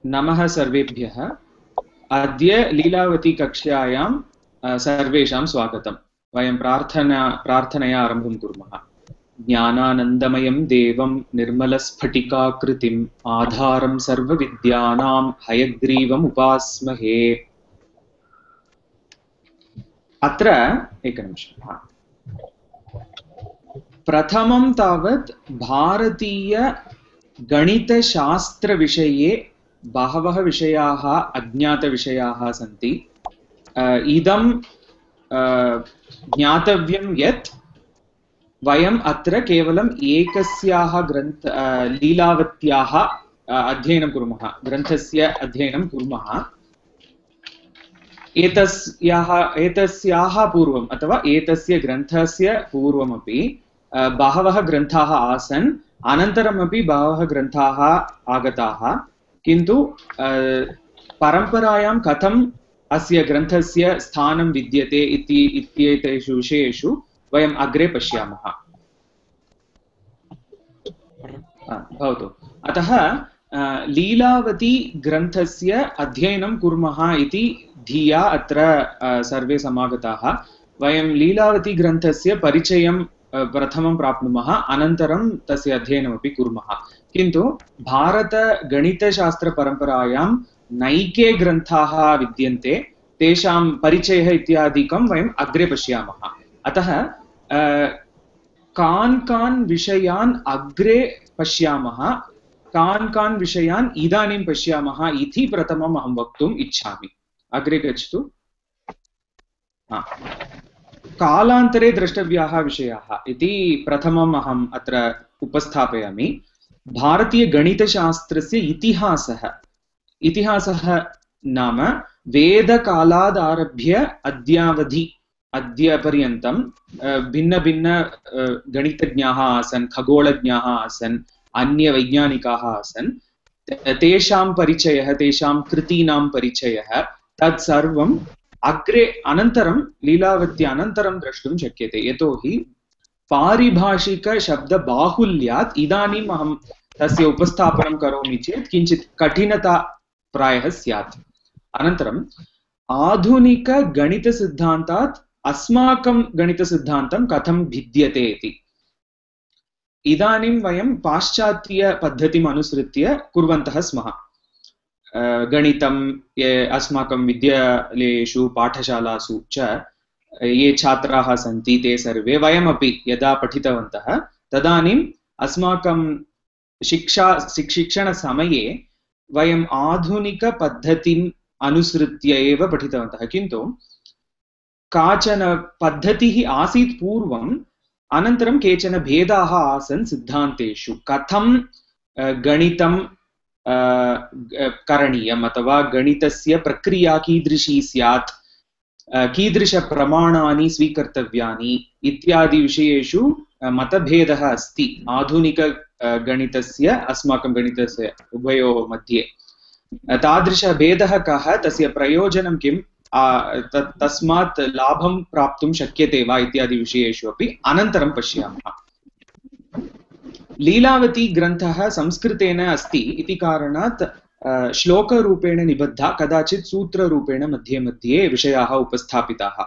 नमः सर्वेभ्यः। अद्य लीलावती कक्ष्यायां सर्वेषां स्वागतं। वयं प्रार्थनया आरम्भं कुर्मः। ज्ञानानन्दमयं देवं निर्मलस्फटिकाकृतिम् आधारं सर्वविद्यानां हयग्रीवम् उपास्महे। अत्र एकनिमिषम्। प्रथमं तावत् भारतीय गणितशास्त्रविषये बहवः विषयाः अज्ञातविषयाः सन्ति। इदं ज्ञातव्यं यत् वयम् अत्र केवलम् एकस्याः लीलावत्याः अध्ययनं कुर्मः, ग्रन्थस्य अध्ययनं कुर्मः। एतस्याः पूर्वम् अथवा एतस्य ग्रन्थस्य पूर्वमपि बहवः ग्रन्थाः आसन्, अनन्तरमपि बहवः ग्रन्थाः आगताः, किन्तु परम्परायां कथम् अस्य ग्रन्थस्य स्थानं विद्यते इत्येतेषु विषयेषु वयम् अग्रे पश्यामः। भवतु। अतः लीलावती ग्रन्थस्य अध्ययनं कुर्मः इति धिया अत्र सर्वे समागताः। वयं लीलावती ग्रन्थस्य परिचयं प्रथमं प्राप्नुमः, अनन्तरं तस्य अध्ययनमपि कुर्मः। किन्तु भारतगणितशास्त्रपरम्परायां नैके ग्रन्थाः विद्यन्ते, तेषां परिचयः इत्यादिकं वयम् अग्रे पश्यामः। अतः कान् विषयान् अग्रे पश्यामः, कान् विषयान् इदानीं पश्यामः इति प्रथमम् अहं वक्तुम् इच्छामि। अग्रे गच्छतु। कालान्तरे द्रष्टव्याः विषयाः इति प्रथमम् अहम् अत्र उपस्थापयामि। भारतीयगणितशास्त्रस्य इतिहासः नाम वेदकालादारभ्य अद्यपर्यन्तं भिन्न गणितज्ञाः आसन्, खगोलज्ञाः आसन्, अन्यवैज्ञानिकाः आसन्। तेषां परिचयः, तेषां कृतीनां परिचयः तत्सर्वम् अनन्तरं लीलावत्यानन्तरं द्रष्टुं शक्यते। यतोहि पारिभाषिकशब्दबाहुल्यात् इदानीम् अहं तस्य उपस्थापनं करोमि चेत् किञ्चित् कठिनता प्रायः स्यात्। अनन्तरम् आधुनिकगणितसिद्धान्तात् अस्माकं गणितसिद्धान्तं कथं भिद्यते इति। इदानीं वयं पाश्चात्यपद्धतिम् अनुसृत्य कुर्वन्तः स्मः। गणितम् अस्माकं विद्यालयेषु पाठशालासु च ये छात्राः सन्ति ते सर्वे, वयमपि यदा पठितवन्तः तदानीम् अस्माकं शिक्षणसमये वयम् आधुनिकपद्धतिम् अनुसृत्य एव पठितवन्तः। किन्तु काचन पद्धतिः आसीत् पूर्वम्, अनन्तरं केचन भेदाः आसन् सिद्धान्तेषु। कथं गणितं करणीयम् अथवा गणितस्य प्रक्रिया कीदृशी स्यात्, कीदृशप्रमाणानि स्वीकर्तव्यानि इत्यादि विषयेषु मतभेदः अस्ति आधुनिकगणितस्य अस्माकं गणितस्य उभयोः मध्ये। तादृशभेदः कः, तस्य प्रयोजनं किं, तस्मात् लाभं प्राप्तुं शक्यते वा इत्यादि विषयेषु अपि अनन्तरं पश्यामः। लीलावती ग्रन्थः संस्कृतेन अस्ति इति कारणात् श्लोकरूपेण निबद्धा, कदाचित् सूत्ररूपेण मध्ये मध्ये विषयाः उपस्थापिताः।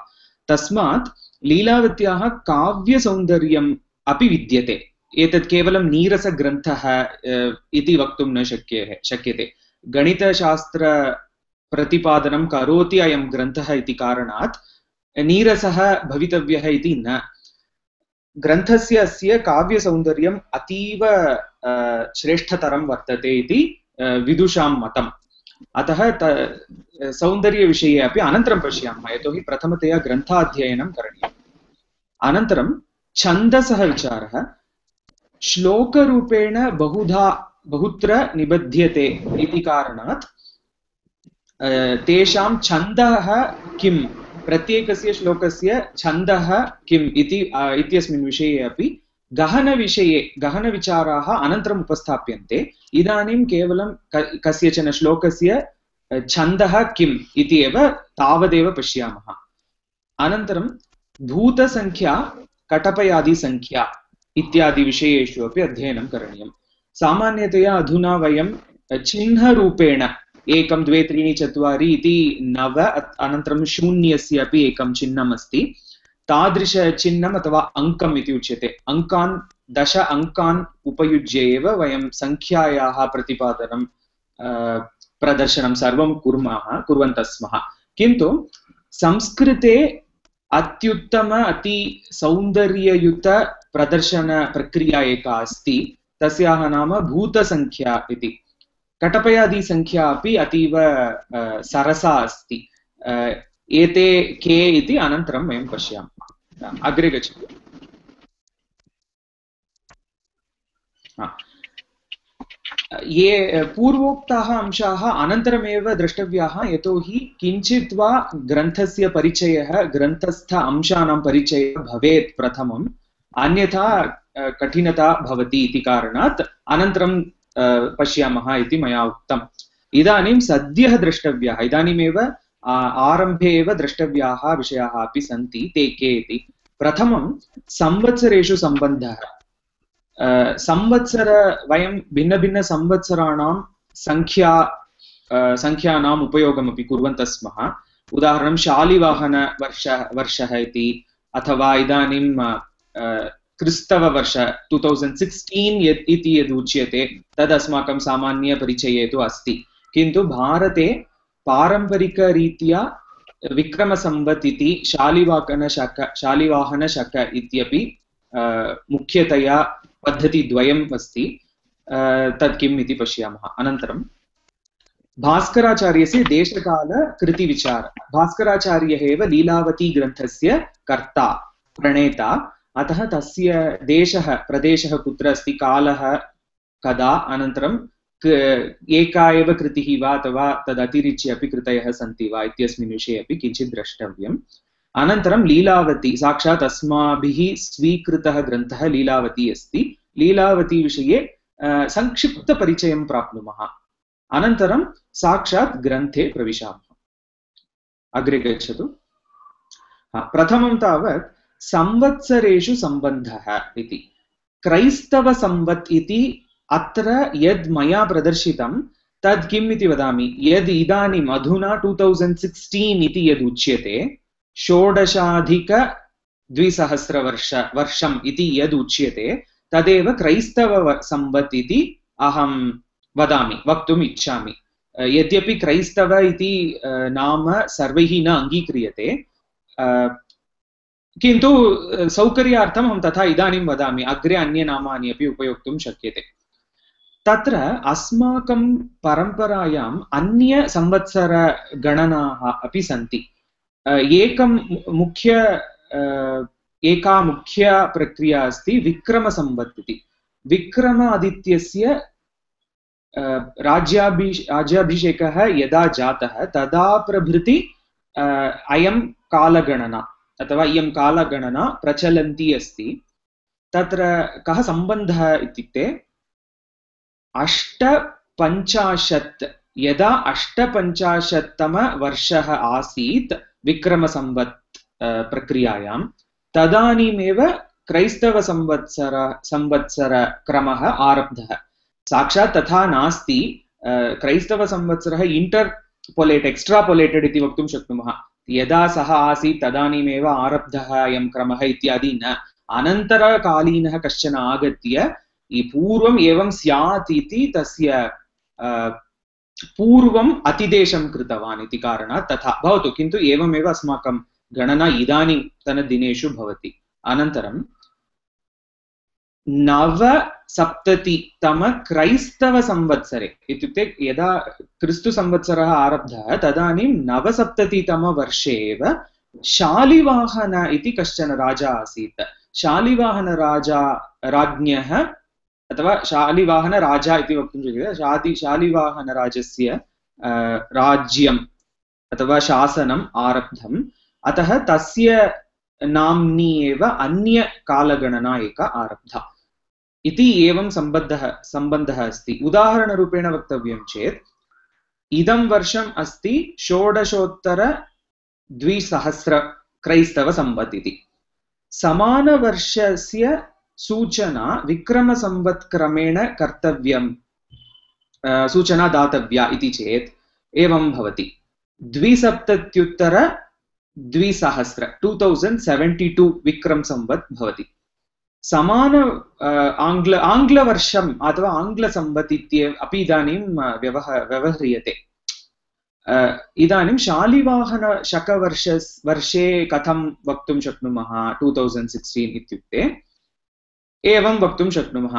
तस्मात् लीलावत्याः काव्यसौन्दर्यम् अपि विद्यते। एतत् केवलं नीरसग्रन्थः इति वक्तुं न शक्यते। गणितशास्त्रप्रतिपादनं करोति अयं ग्रन्थः इति कारणात् नीरसः भवितव्यः इति न। ग्रन्थस्य अस्य काव्यसौन्दर्यम् अतीव श्रेष्ठतरं वर्तते इति विदुषां मतम्। अतः सौन्दर्यविषये अपि अनन्तरं पश्यामः, यतोहि प्रथमतया ग्रन्थाध्ययनं करणीयम्। अनन्तरं छन्दसः विचारः श्लोकरूपेण बहुत्र निबध्यते इति कारणात् तेषां छन्दः किं, प्रत्येकस्य श्लोकस्य छन्दः किम् इत्यस्मिन् विषये अपि गहनविचाराः अनन्तरम् उपस्थाप्यन्ते। इदानीं केवलं कस्यचन श्लोकस्य छन्दः किम् इति एव तावदेव पश्यामः। अनन्तरं भूतसङ्ख्या, कटपयादिसङ्ख्या इत्यादि विषयेषु अपि अध्ययनं करणीयम्। सामान्यतया अधुना वयं चिह्नरूपेण 1 2 3 4 इति 9 अनन्तरं शून्यस्य अपि एकं चिह्नम् अस्ति तादृशचिह्नम् अथवा अङ्कम् इति उच्यते अङ्कान् 10 अङ्कान् उपयुज्य एव वयं संख्यायाः प्रतिपादनं प्रदर्शनं सर्वं कुर्वन्तः स्मः किन्तु संस्कृते अत्युत्तम अति सौन्दर्ययुत प्रदर्शन प्रक्रिया एका अस्ति तस्याः नाम भूतसंख्या इति कटपयादि संख्या अपि अतीव सरसा अस्ति एते के इति अनन्तरं वयं पश्यामः अग्रे गच्छतु ये पूर्वोक्ताः अंशाः अनन्तरमेव द्रष्टव्याः यतोहि किञ्चित् वा ग्रन्थस्य परिचयः ग्रन्थस्थ अंशानां परिचयः भवेत् प्रथमम् अन्यथा कठिनता भवति इति कारणात् अनन्तरं पश्यामः इति मया उक्तम् इदानीं सद्यः द्रष्टव्याः इदानीमेव आरम्भे एव द्रष्टव्याः विषयाः अपि सन्ति ते के इति प्रथमं संवत्सरेषु सम्बन्धः संवत्सर वयं भिन्नभिन्नसंवत्सराणां संख्यानाम् उपयोगमपि कुर्वन्तः स्मः उदाहरणं शालिवाहनवर्षः इति अथवा इदानीं क्रिस्तववर्ष 2016 इति यद् उच्यते तद् अस्माकं सामान्यपरिचये तु अस्ति किन्तु भारते पारम्परिकरीत्या विक्रमसंवत् इति शालिवाहनशक इत्यपि मुख्यतया पद्धतिद्वयम् अस्ति तत् किम् इति पश्यामः अनन्तरं भास्कराचार्यस्य देशकालकृतिविचार भास्कराचार्यः एव लीलावती ग्रन्थस्य कर्ता प्रणेता अतः तस्य देशः प्रदेशः कुत्र अस्ति कालः कदा अनन्तरं एका एव कृतिः वा अथवा तदतिरिच्य अपि कृतयः सन्ति वा इत्यस्मिन् विषये अपि किञ्चित् द्रष्टव्यम् अनन्तरं लीलावती साक्षात् अस्माभिः स्वीकृतः ग्रन्थः लीलावती अस्ति लीलावती विषये संक्षिप्तपरिचयं प्राप्नुमः अनन्तरं साक्षात् ग्रन्थे प्रविशामः अग्रे गच्छतु प्रथमं तावत् संवत्सरेषु सम्बन्धः इति क्रैस्तवसंवत् इति अत्र यद् मया प्रदर्शितं तद् किम् इति वदामि यद् इदानीम् अधुना 2016 इति यद् उच्यते 16,200 इति यद् उच्यते तदेव क्रैस्तवसंवत् इति अहं वक्तुम् इच्छामि यद्यपि क्रैस्तव इति नाम सर्वैः न अङ्गीक्रियते किन्तु सौकर्यार्थम् अहं तथा इदानीं वदामि अग्रे अन्यनामानि अपि उपयोक्तुं शक्यते तत्र अस्माकं परम्परायाम् अन्य संवत्सरगणनाः अपि सन्ति एका मुख्या प्रक्रिया अस्ति विक्रमसंवत् इति विक्रमादित्यस्य राज्याभिषेकः यदा जातः तदा प्रभृति अयं कालगणना अथवा इयं कालगणना प्रचलन्ती अस्ति तत्र कः सम्बन्धः इत्युक्ते 850 यदा 850तम वर्षः आसीत् विक्रमसंवत् प्रक्रियायां तदानीमेव क्रैस्तवसंवत्सरक्रमः आरब्धः साक्षात् तथा नास्ति क्रैस्तवसंवत्सरः इंटरपोलेट एक्स्ट्रापोलेटेड इति वक्तुं शक्नुमः यदा सः आसीत् तदानीमेव आरब्धः अयं क्रमः इत्यादि न अनन्तरकालीनः कश्चन आगत्य पूर्वम् एवं स्यात् इति तस्य पूर्वम् अतिदेशं कृतवान् इति कारणात् तथा भवतु किन्तु एवमेव अस्माकं गणना इदानीन्तनदिनेषु भवति अनन्तरं 970तम क्रैस्तवसंवत्सरे इत्युक्ते यदा क्रिस्तुसंवत्सरः आरब्धः तदानीं 970तमवर्षे एव शालिवाहन इति कश्चन राजा आसीत् राज्ञः अथवा शालिवाहनराजा इति वक्तुं शक्यते शालिवाहनराजस्य राज्यम् अथवा शासनम् आरब्धम् अतः तस्य नाम्नी एव अन्य कालगणना एका आरब्धा इति एवं सम्बन्धः अस्ति उदाहरणरूपेण वक्तव्यं चेत् इदं वर्षम् अस्ति 16,200 क्रैस्तवसंवत् इति समानवर्षस्य सूचना विक्रमसंवत् क्रमेण कर्तव्यम् सूचना दातव्या इति चेत् एवं भवति 27,200 2072 विक्रम संवत् भवति समान आङ्ग्लवर्षम् अथवा आङ्ग्लसंवत् अपि इदानीं व्यवह्रियते इदानीं शालिवाहन शकवर्षे कथं वक्तुं शक्नुमः 2016 इत्युक्ते एवं वक्तुं शक्नुमः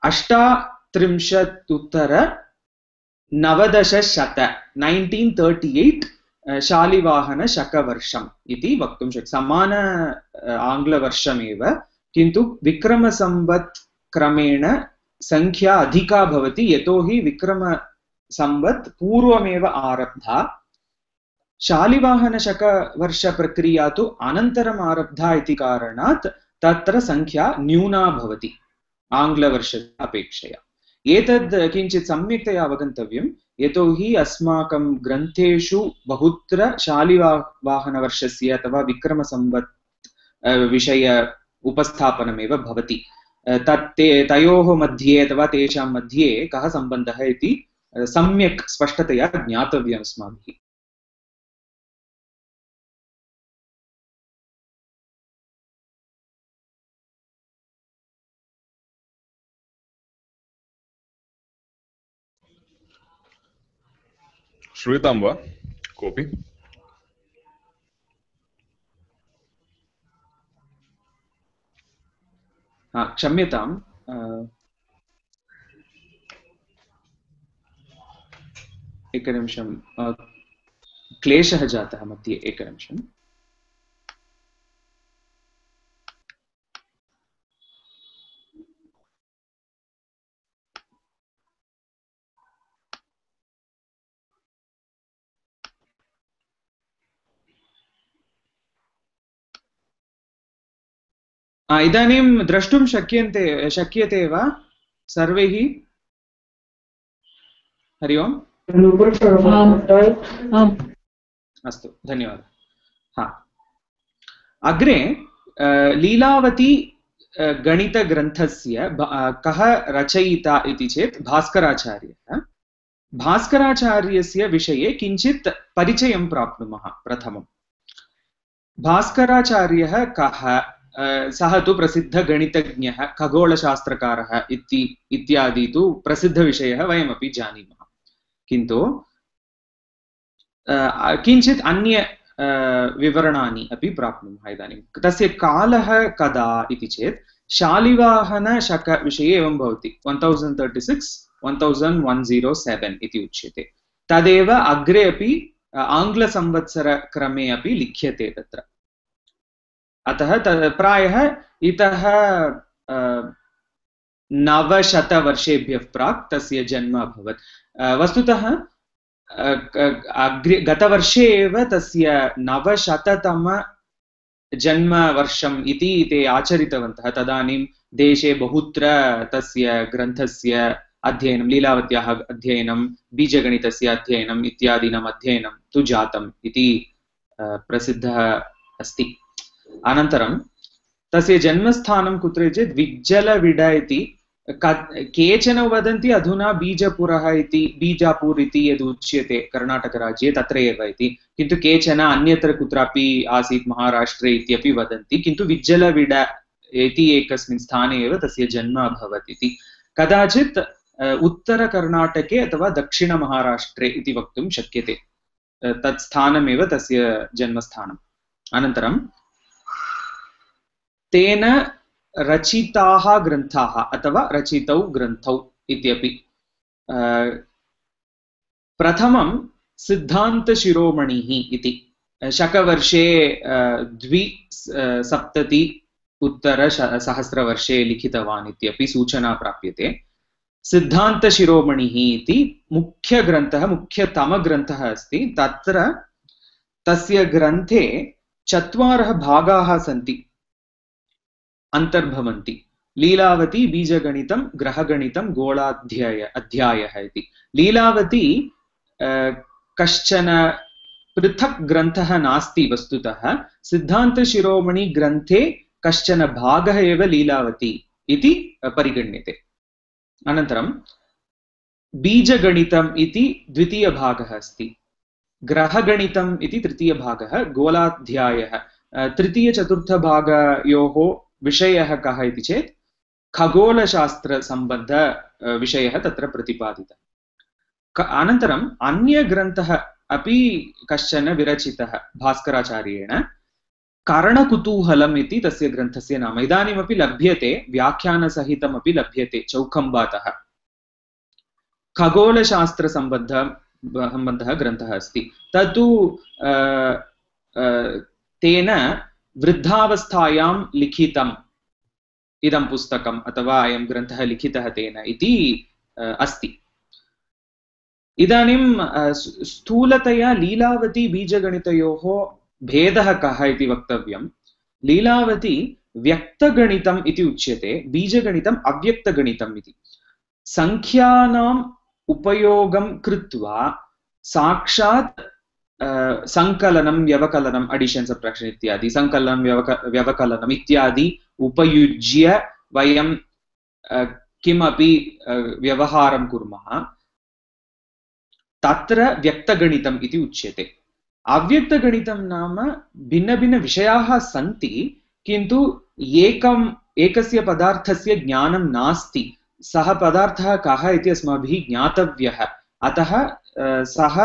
38,90 1938 शालिवाहन शकवर्षम् इति वक्तुं शक्यते समान आङ्ग्लवर्षमेव किन्तु विक्रमसंवत् क्रमेण संख्या अधिका भवति यतोहि विक्रमसंवत् पूर्वमेव आरब्धा शालिवाहनशकवर्षप्रक्रिया तु अनन्तरम् आरब्धा इति कारणात् तत्र संख्या न्यूना भवति आङ्ग्लवर्षस्य अपेक्षया एतद् किञ्चित् सम्यक्तया अवगन्तव्यं यतोहि अस्माकं ग्रन्थेषु बहुत्र शालिवाहनवर्षस्य अथवा विक्रमसंवत् विषय उपस्थापनमेव भवति तयोः मध्ये अथवा तेषां मध्ये कः सम्बन्धः इति सम्यक् स्पष्टतया ज्ञातव्यम् अस्माभिः श्रूयतां वा कोऽपि क्षम्यताम् एकनिमिषं क्लेशः जातः मध्ये एकनिमिषम् इदानीं द्रष्टुं शक्यते वा सर्वैः हरि ओम् अस्तु धन्यवादः अग्रे लीलावती गणितग्रन्थस्य कः रचयिता इति चेत् भास्कराचार्यः भास्कराचार्यस्य विषये किञ्चित् परिचयं प्राप्नुमः प्रथमं भास्कराचार्यः कः सः तु प्रसिद्धगणितज्ञः खगोलशास्त्रकारः इत्यादि तु प्रसिद्धविषयः वयमपि जानीमः किन्तु किञ्चित् अन्य विवरणानि अपि प्राप्नुमः इदानीं तस्य कालः कदा इति चेत् शालिवाहनशकविषये एवं भवति 1036-1107 इति उच्यते तदेव अग्रे अपि आङ्ग्लसंवत्सरक्रमे अपि लिख्यते तत्र अतः प्रायः इतः 900 वर्षेभ्यः प्राक् तस्य जन्म अभवत् वस्तुतः गतवर्षे एव तस्य 900तम जन्मवर्षम् इति ते आचरितवन्तः तदानीं देशे बहुत्र तस्य ग्रन्थस्य अध्ययनं लीलावत्याः अध्ययनं बीजगणितस्य अध्ययनम् इत्यादीनाम् अध्ययनं तु जातम् इति प्रसिद्धः अस्ति अनन्तरं तस्य जन्मस्थानं कुत्र चेत् विज्जलविड इति केचन वदन्ति अधुना बीजापुर इति यद् उच्यते कर्णाटकराज्ये तत्र एव इति किन्तु केचन अन्यत्र कुत्रापि आसीत् महाराष्ट्रे इत्यपि वदन्ति किन्तु विज्जलविड इति एकस्मिन् स्थाने एव तस्य जन्म अभवत् इति कदाचित् उत्तरकर्णाटके अथवा दक्षिणमहाराष्ट्रे इति वक्तुं शक्यते तत् स्थानमेव तस्य जन्मस्थानम् अनन्तरं तेन रचिताः ग्रन्थाः अथवा रचितौ ग्रन्थौ इत्यपि प्रथमं सिद्धान्तशिरोमणिः इति शकवर्षे 270 लिखितवान् इत्यपि सूचना प्राप्यते सिद्धान्तशिरोमणिः इति मुख्यग्रन्थः मुख्यतमग्रन्थः अस्ति तत्र तस्य ग्रन्थे 4 भागाः सन्ति अन्तर्भवन्ति लीलावती बीजगणितं ग्रहगणितं गोलाध्यायः इति लीलावती कश्चन पृथक् ग्रन्थः नास्ति वस्तुतः सिद्धान्तशिरोमणि ग्रन्थे कश्चन भागः एव लीलावती इति परिगण्यते अनन्तरं बीजगणितम् इति द्वितीयभागः अस्ति, ग्रहगणितम् इति तृतीयभागः, गोलाध्यायः। तृतीयचतुर्थभागयोः विषयः कः इति चेत् खगोलशास्त्रसम्बन्ध विषयः तत्र प्रतिपादितः। अनन्तरम् अन्यग्रन्थः अपि कश्चन विरचितः भास्कराचार्येण, करणकुतूहलम् इति तस्य ग्रन्थस्य नाम। इदानीमपि लभ्यते, व्याख्यानसहितमपि लभ्यते चौखम्बातः। खगोलशास्त्रसम्बन्धः ग्रन्थः अस्ति। तत्तु तेन वृद्धावस्थायां लिखितम् इदं पुस्तकम् अथवा अयं ग्रन्थः लिखितः तेन इति अस्ति। इदानीं स्थूलतया लीलावती बीजगणितयोः भेदः कः इति वक्तव्यं। लीलावती व्यक्तगणितम् इति उच्यते, बीजगणितम् अव्यक्तगणितम् इति। संख्यानाम् उपयोगं कृत्वा साक्षात् संकलनं व्यवकलनम्, अडिशन् सब्ट्राक्षन् इत्यादि, संकलनं व्यवकलनम् इत्यादि उपयुज्य वयं किमपि व्यवहारं कुर्मः, तत्र व्यक्तगणितम् इति उच्यते। अव्यक्तगणितं नाम भिन्नभिन्नविषयाः सन्ति, किन्तु एकस्य पदार्थस्य ज्ञानं नास्ति। सः पदार्थः कः इति अस्माभिः ज्ञातव्यः, अतः सः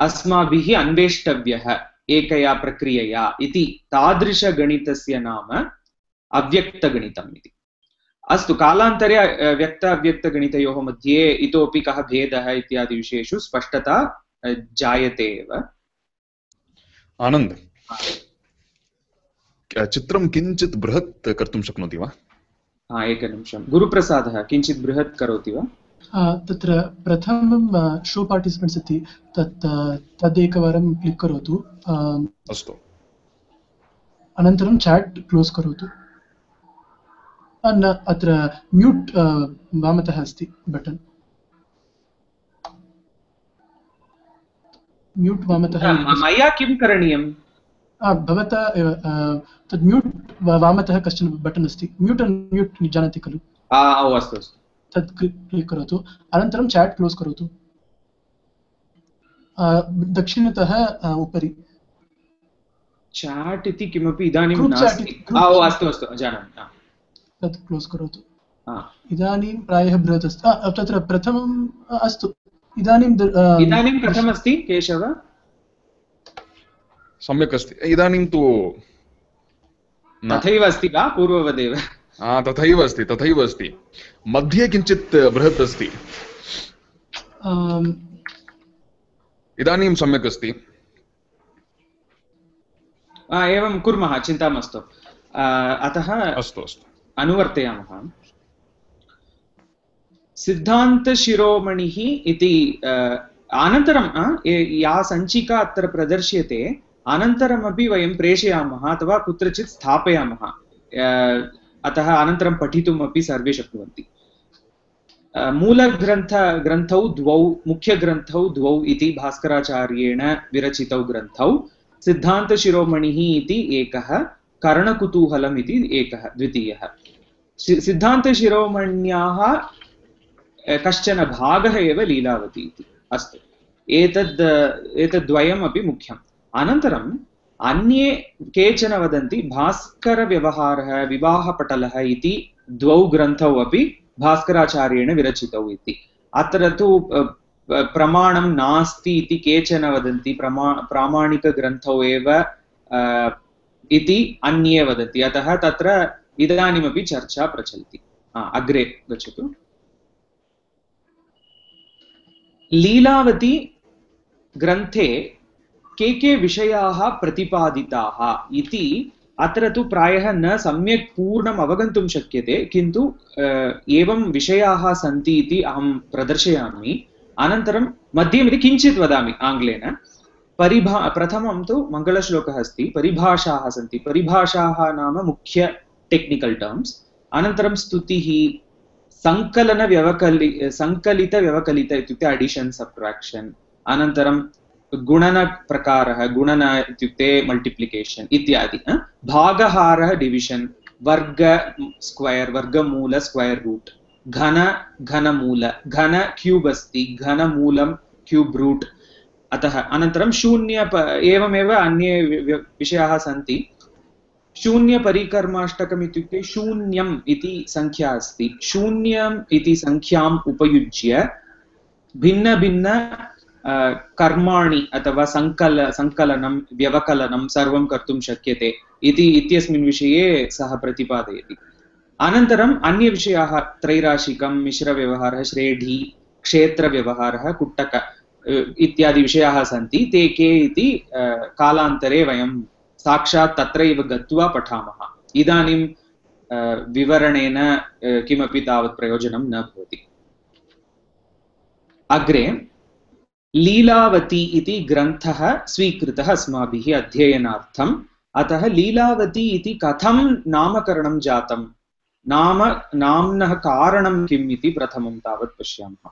अस्माभिः अन्वेष्टव्यः एकया प्रक्रियया इति। तादृशगणितस्य नाम अव्यक्तगणितम् इति। अस्तु, कालान्तरे व्यक्त अव्यक्तगणितयोः मध्ये इतोपि कः भेदः इत्यादि विषयेषु स्पष्टता जायते एव। आनन्द, चित्रं किञ्चित् बृहत् कर्तुं शक्नोति वा? एकनिमिषं, गुरुप्रसादः किञ्चित् बृहत् करोति वा? तत्र प्रथमं शो पार्टिसिपेण्ट्स् इति तदेकवारं क्लिक् करोतु। अस्तु, अनन्तरं चाट् क्लोस् करोतु। अत्र म्यूट् वामतः अस्ति बटन्, म्यूट् वामतः। मया किं करणीयं? भवता एव तद् म्यूट् वामतः कश्चन बटन् अस्ति, म्यूट् अन्म्यूट् जानाति खलु? अस्तु अस्तु, तत् क्लिक् करोतु। अनन्तरं चाट् क्लोस् करोतु। दक्षिणतः उपरि चाट् इति किमपि इदानीं नास्ति। अस्तु अस्तु, जानामि। तत् क्लोस् करोतु। इदानीं प्रायः बृहत् अस्ति। तत्र प्रथमम् अस्तु, इदानीं कथमस्ति केशव? सम्यक् अस्ति। इदानीं तु तथैव अस्ति वा पूर्ववदेव? तथैव अस्ति, तथैव अस्ति। मध्ये किञ्चित् बृहत् अस्ति। इदानीं सम्यक् अस्ति। एवं कुर्मः, चिन्ता मास्तु। अतः अस्तु अस्तु, अनुवर्तयामः। सिद्धान्तशिरोमणिः इति अनन्तरं या सञ्चिका अत्र प्रदर्श्यते अनन्तरमपि वयं प्रेषयामः अथवा कुत्रचित् स्थापयामः। अतः अनन्तरं पठितुमपि सर्वे शक्नुवन्ति। मूलग्रन्थौ द्वौ, मुख्यग्रन्थौ द्वौ इति भास्कराचार्येण विरचितौ ग्रन्थौ। सिद्धान्तशिरोमणिः इति एकः, करणकुतूहलम् इति एकः द्वितीयः। सिद्धान्तशिरोमण्याः कश्चन भागः एव लीलावती इति। अस्तु, एतद्द्वयमपि मुख्यम्। अनन्तरम् अन्ये केचन वदन्ति भास्करव्यवहारः, विवाहपटलः इति द्वौ ग्रन्थौ अपि भास्कराचार्येण विरचितौ इति। अत्र तु प्रमाणं नास्ति इति केचन वदन्ति, प्रामाणिकग्रन्थौ एव इति अन्ये वदन्ति। अतः तत्र इदानीमपि चर्चा प्रचलति। अग्रे गच्छतु। लीलावती ग्रन्थे के विषयाः प्रतिपादिताः इति अत्र तु प्रायः न सम्यक् पूर्णम् अवगन्तुं शक्यते, किन्तु एवं विषयाः सन्ति इति अहं प्रदर्शयामि। अनन्तरं मध्ये किञ्चित् वदामि आङ्ग्लेन। प्रथमं तु मङ्गलश्लोकः अस्ति, परिभाषाः सन्ति। परिभाषाः नाम मुख्य टेक्निकल् टर्म्स्। अनन्तरं स्तुतिः, सङ्कलितव्यवकलित इत्युक्ते अडिशन् सब्ट्राक्षन्। अनन्तरं गुणनप्रकारः, गुणन इत्युक्ते मल्टिप्लिकेशन् इत्यादि। भागहारः डिविशन्, वर्ग स्क्वयर्, वर्गमूल स्क्वयर् रूट्, घन घनमूल घन क्यूब् अस्ति घनमूलं क्यूब् रूट् अतः अनन्तरं शून्य एवमेव अन्ये विषयाः सन्ति शून्यपरिकर्माष्टकम् इत्युक्ते शून्यम् इति संख्या अस्ति शून्यम् इति संख्याम् उपयुज्य भिन्न भिन्न कर्माणि अथवा संकलनं व्यवकलनं सर्वं कर्तुं शक्यते इत्यस्मिन् विषये सः प्रतिपादयति अनन्तरम् अन्यविषयाः त्रैराशिकं मिश्रव्यवहारः श्रेढी क्षेत्रव्यवहारः कुट्टक इत्यादि विषयाः सन्ति ते के इति कालान्तरे वयं साक्षात् तत्रैव गत्वा पठामः इदानीं विवरणेन किमपि तावत् प्रयोजनं न भवति अग्रे लीलावती इति ग्रन्थः स्वीकृतः अस्माभिः अध्ययनार्थम् अतः लीलावती इति कथं नामकरणं जातं नाम्नः कारणं किम् इति प्रथमं तावत् पश्यामः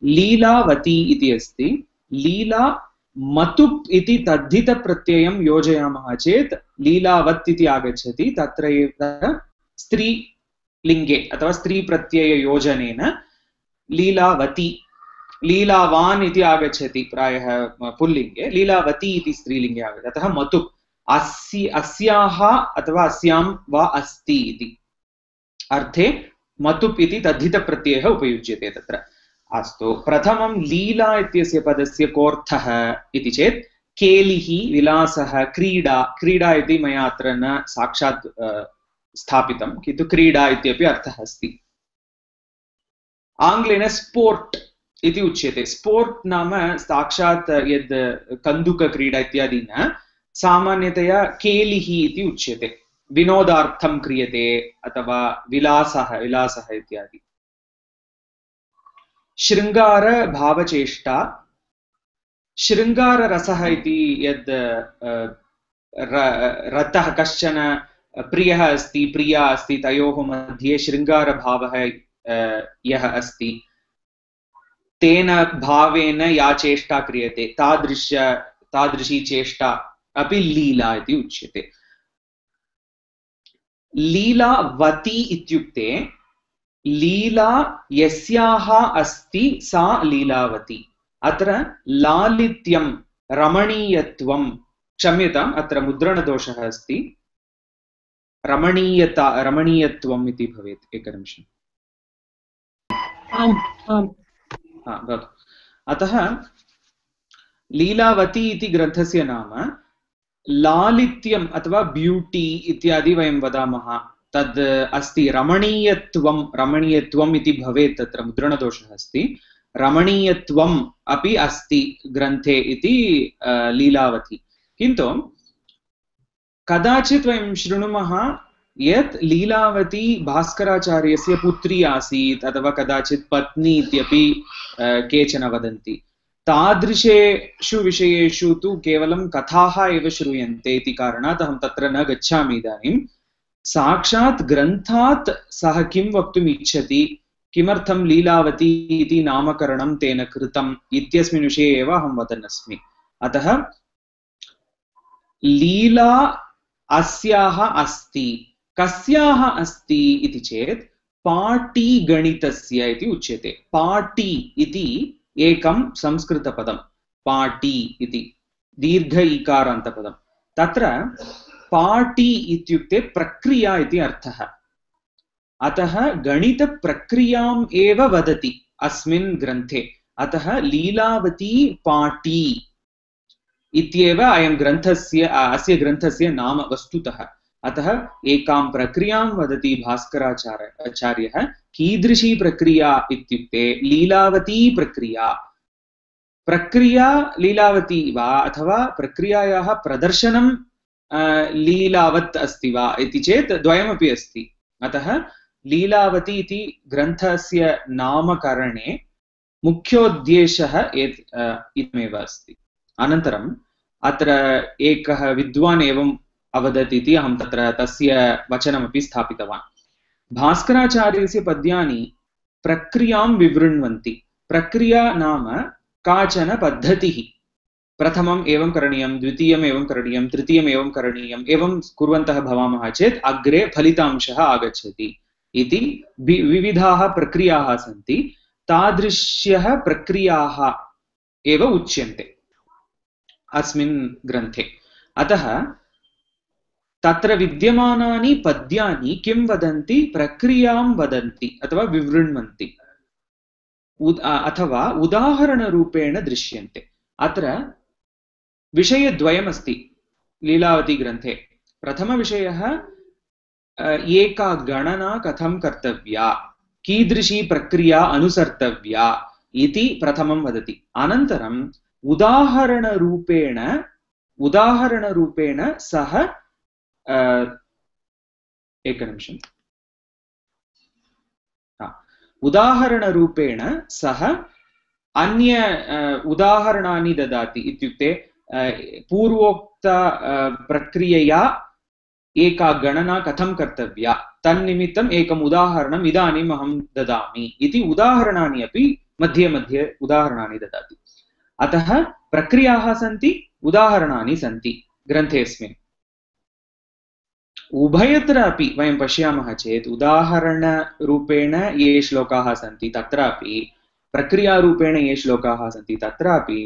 लीलावती इति अस्ति लीला मतुप् इति तद्धितप्रत्ययं योजयामः चेत् लीलावत् इति आगच्छति तत्र स्त्रीलिङ्गे अथवा स्त्रीप्रत्यययोजनेन लीलावती लीलावान् इति आगच्छति प्रायः पुल्लिङ्गे लीलावती इति स्त्रीलिङ्गे आगच्छति अतः मतुप् अस्याः अथवा अस्यां वा अस्ति इति अर्थे मतुप् इति तद्धितप्रत्ययः उपयुज्यते तत्र अस्तु प्रथमं लीला इत्यस्य पदस्य कोऽर्थः इति चेत् केलिः विलासः क्रीडा क्रीडा इति मया अत्र न साक्षात् स्थापितं किन्तु क्रीडा इत्यपि अर्थः अस्ति आङ्ग्लेन स्पोर्ट् इति उच्यते स्पोर्ट् नाम साक्षात् यद् कन्दुकक्रीडा इत्यादि न सामान्यतया केलिः इति उच्यते विनोदार्थं क्रियते अथवा विलासः इत्यादि शृङ्गार भावचेष्टा शृङ्गाररसः इति यद् रतः कश्चन प्रियः अस्ति प्रिया अस्ति तयोः मध्ये शृङ्गारभावः यः अस्ति तेन भावेन या चेष्टा क्रियते तादृशी चेष्टा अपि लीला इति उच्यते लीलावती इत्युक्ते लीला यस्याः अस्ति सा लीलावती अत्र लालित्यं रमणीयत्वं क्षम्यताम् अत्र मुद्रणदोषः अस्ति रमणीयत्वम् इति भवेत् एकनिमिषम् अतः लीलावती इति ग्रन्थस्य नाम लालित्यम् अथवा ब्यूटी इत्यादि वयं वदामः तद् अस्ति रमणीयत्वम् इति भवेत् तत्र मुद्रणदोषः अस्ति रमणीयत्वम् अपि अस्ति ग्रन्थे इति लीलावती किन्तु कदाचित् वयं शृणुमः यत् लीलावती भास्कराचार्यस्य पुत्री आसीत् अथवा कदाचित् पत्नी इत्यपि केचन वदन्ति तादृशेषु विषयेषु तु केवलं कथाः एव श्रूयन्ते इति कारणात् अहं तत्र न गच्छामि इदानीं साक्षात् ग्रन्थात् सः किं वक्तुम् इच्छति किमर्थं लीलावती इति नामकरणं तेन कृतम् इत्यस्मिन् विषये एव अहं वदन् अस्मि अतः लीला अस्याः अस्ति कस्याः अस्ति इति चेत् पाटीगणितस्य इति उच्यते पाटी इति एकं संस्कृतपदं पाटी इति दीर्घ इकारान्तपदं तत्र पाटी इत्युक्ते प्रक्रिया इति अर्थः अतः गणितप्रक्रियाम् एव वदति अस्मिन् ग्रन्थे अतः लीलावती पाटी इत्येव अस्य ग्रन्थस्य नाम वस्तुतः अतः एकां प्रक्रियां वदति भास्कराचार्यः कीदृशी प्रक्रिया इत्युक्ते लीलावती प्रक्रिया लीलावती वा अथवा प्रक्रियायाः प्रदर्शनं लीलावत् अस्ति वा इति चेत् द्वयमपि अस्ति अतः लीलावती इति ग्रन्थस्य नामकरणे मुख्योद्देशः इदमेव अस्ति अनन्तरम् अत्र एकः विद्वान् एवम् अवदत् इति अहं तत्र तस्य वचनमपि स्थापितवान् भास्कराचार्यस्य पद्यानि प्रक्रियां विवृण्वन्ति प्रक्रिया नाम काचन पद्धतिः प्रथमम् एवं करणीयं द्वितीयम् एवं करणीयं तृतीयम् एवं करणीयम् एवं कुर्वन्तः भवामः चेत् अग्रे फलितांशः आगच्छति इति विविधाः प्रक्रियाः सन्ति तादृश्यः प्रक्रियाः एव उच्यन्ते अस्मिन् ग्रन्थे अतः तत्र विद्यमानानि पद्यानि किं वदन्ति प्रक्रियां वदन्ति अथवा विवृण्वन्ति अथवा उदाहरणरूपेण दृश्यन्ते अत्र विषयद्वयमस्ति लीलावती ग्रन्थे प्रथमविषयः एका गणना कथं कर्तव्या कीदृशी प्रक्रिया अनुसर्तव्या इति प्रथमं वदति अनन्तरम् उदाहरणरूपेण सः एकनिमिषम् उदाहरणरूपेण सः अन्य उदाहरणानि ददाति इत्युक्ते पूर्वोक्त प्रक्रियया एका गणना कथं कर्तव्या तन्निमित्तम् एकम् उदाहरणम् इदानीम् अहं ददामि इति उदाहरणानि अपि मध्ये मध्ये उदाहरणानि ददाति अतः प्रक्रियाः सन्ति उदाहरणानि सन्ति ग्रन्थेऽस्मिन् उभयत्र अपि वयं पश्यामः चेत् उदाहरणरूपेण ये श्लोकाः सन्ति तत्रापि प्रक्रियारूपेण ये श्लोकाः सन्ति तत्रापि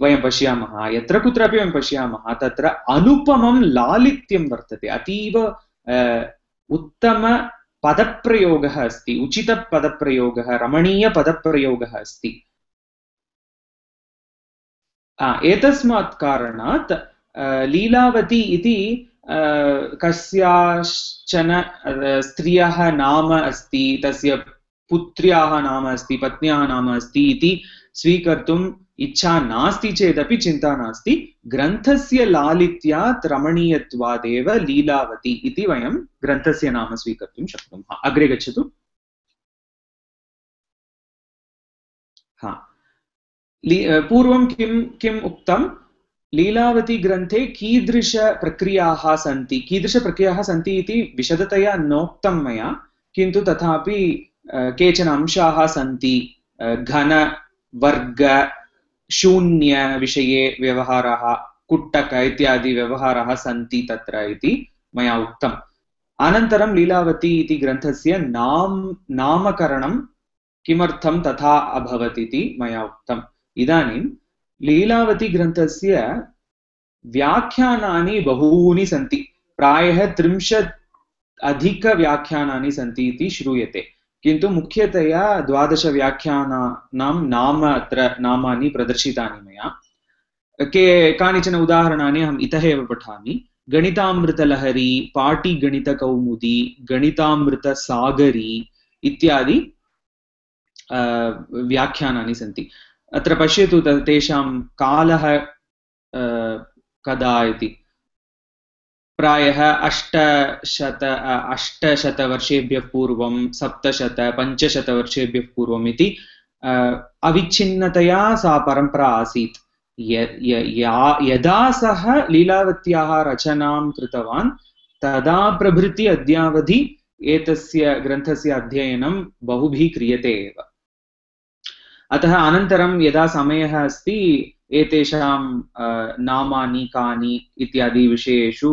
वयं पश्यामः यत्र कुत्रापि वयं पश्यामः तत्र अनुपमं लालित्यं वर्तते अतीव उत्तम पदप्रयोगः अस्ति उचितपदप्रयोगः रमणीयपदप्रयोगः अस्ति एतस्मात् कारणात् लीलावती इति कस्याश्चन स्त्रियः नाम अस्ति तस्य पुत्र्याः नाम अस्ति पत्न्याः नाम अस्ति इति स्वीकर्तुम् इच्छा नास्ति चेदपि चिन्ता नास्ति ग्रन्थस्य लालित्यात् रमणीयत्वादेव लीलावती इति वयं ग्रन्थस्य नाम स्वीकर्तुं शक्नुमः अग्रे गच्छतु पूर्वं किम् उक्तं लीलावती ग्रन्थे कीदृशप्रक्रियाः सन्ति इति विशदतया नोक्तं मया किन्तु तथापि केचन अंशाः सन्ति घन वर्ग शून्य विषये व्यवहाराः कुट्टक इत्यादि व्यवहाराः सन्ति तत्र इति मया उक्तम् अनन्तरं लीलावती इति ग्रन्थस्य नामकरणं किमर्थं तथा अभवत् इति मया उक्तम् इदानीं लीलावती ग्रन्थस्य व्याख्यानानि बहूनि सन्ति प्रायः 30 अधिकव्याख्यानानि सन्ति इति श्रूयते किन्तु मुख्यतया 12 व्याख्यानानां नामानि प्रदर्शितानि मया कानिचन उदाहरणानि अहम् इतः एव पठामि गणितामृतलहरी पाटिगणितकौमुदी गणितामृतसागरी इत्यादि व्याख्यानानि सन्ति अत्र पश्यतु तेषां कालः कदा इति प्रायः 800 वर्षेभ्यः पूर्वं 700 500 वर्षेभ्यः पूर्वम् इति अविच्छिन्नतया सा परम्परा आसीत् यदा सः लीलावत्याः रचनां कृतवान् तदा प्रभृति अद्यावधि एतस्य ग्रन्थस्य अध्ययनं बहुभिः क्रियते एव अतः अनन्तरं यदा समयः अस्ति एतेषां नामानि कानि इत्यादि विषयेषु